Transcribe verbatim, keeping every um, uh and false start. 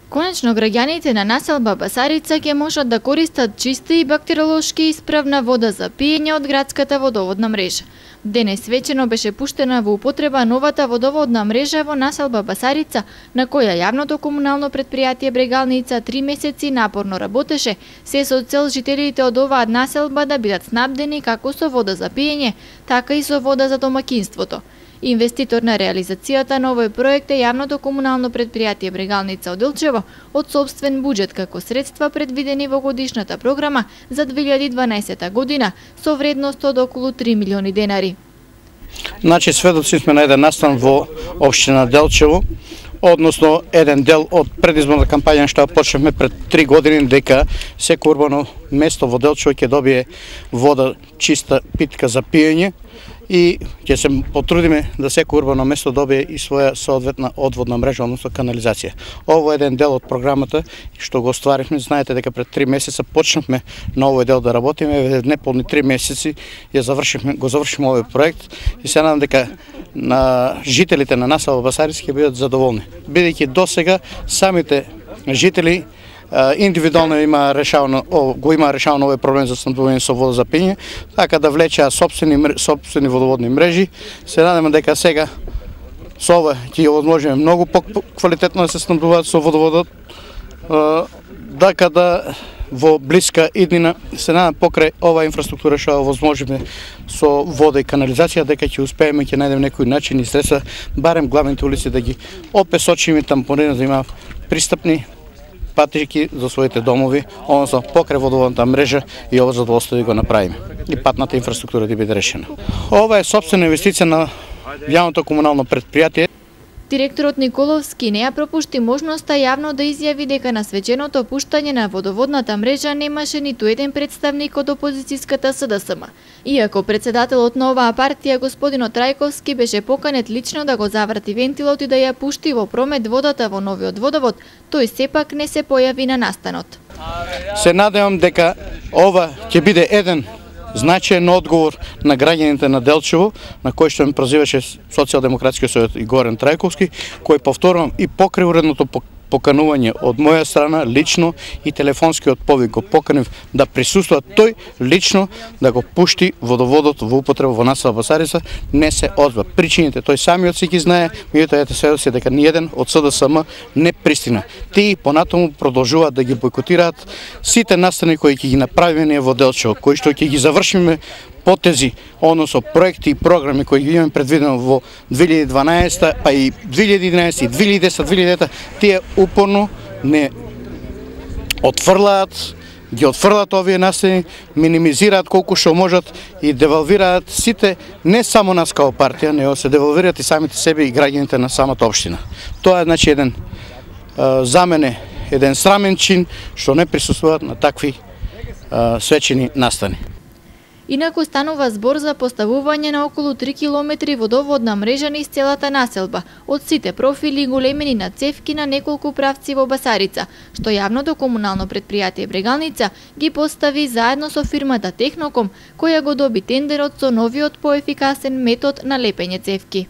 Конечно, граѓаните на населба Басарица ќе можат да користат чиста и бактериолошки исправна вода за пиење од градската водоводна мрежа. Денес вечерно беше пуштена во употреба новата водоводна мрежа во населба Басарица, на која јавното комунално предпријатие Брегалница три месеци напорно работеше, се со цел жителите од оваа населба да бидат снабдени како со вода за пиење, така и со вода за домаќинството. Инвеститор на реализацијата на овој проект е јавното комунално предпријатие Брегалница од Делчево од собствен буџет како средства предвидени во годишната програма за две илјади и дванаесета година со вредност од околу три милиони денари. Значи сведоци сме на еден настан во општина Делчево, односно еден дел од предизборна кампања што почнавме пред три години, дека секој урбано место во Делчево ќе добие вода чиста питка за пиење и ќе се потрудиме да секој урбано место добие и своја соодветна одводна мрежа, односно канализација. Ово е еден дел од програмата што го остварихме. Знаете дека пред три месеца почнавме на овој дел да работиме, неполни три месеци ја завршивме, го завршивме овој проект и се надам дека на жителите на населба Басарица ќе бидат задоволни, бидејќи досега самите жители индивидуално има решавано, го има решавано овој проблем за снабдување со вода за пиење, така да влечеа сопствени сопствени водоводни мрежи. Се надеваме дека сега со ова ќе ја возможиме многу поквалитетно да се снабдуваат со водоводот, дека да во блиска иднина се надам покрај оваа инфраструктура што ја возможиме со вода и канализација, дека ќе успееме ќе најдеме некои начини и средства, барем главните улици да ги опесочиме, тампонираме, да има пристапни патеки за своите домови, односно покрај водоводната мрежа и ова задоволство да го направиме. И патната инфраструктура да биде решена. Ова е сопствена инвестиција на јавното комунално предпријатие. Директорот Николовски не ја пропушти можноста јавно да изјави дека на свеченото пуштање на водоводната мрежа немаше ниту еден представник од опозицијската СДСМ. Иако председателот на оваа партија, господинот Трајковски, беше поканет лично да го заврти вентилот и да ја пушти во промет водата во новиот водовод, тој сепак не се појави на настанот. Се надевам дека ова ќе биде еден значаен одговор на граѓаните на Делчево, на кој што ме прозиваше Социјалдемократскиот сојот и Горан Трајковски, кој повторувам и покрај уредното поканување од моја страна лично и телефонскиот повик го поканив да присуствува тој лично да го пушти водоводот во употреба во населба Басарица, не се одзва. Причините тој самиот си ги знае, меѓутоа ете сведоци дека ниеден од СДСМ не пристигна. Тие понатаму продолжуваат да ги бойкотираат сите настани кои ќе ги направиме ние во Делчево, кои што ќе ги завршиме потези, односно проекти и програми кои ги имаме предвидено во две илјади и дванаесета, па и две илјади и единаесета, и две илјади и десета, две илјади и девета, тие упорно не отфрлаат, ги отфрлаат овие настани, минимизираат колку што можат и девалвираат сите, не само нас као партија, него се девалвираат и самите себе и граѓаните на самата општина. Тоа е значи еден а, за мене еден срамен чин што не присуствуваат на такви а, свечени настани. Инаку станува збор за поставување на околу три километри водоводна мрежа низ целата населба, од сите профили и големини на цевки на неколку правци во Басарица, што јавното комунално предпријатие Брегалница ги постави заедно со фирмата Техноком, која го доби тендерот со новиот поефикасен метод на лепење цевки.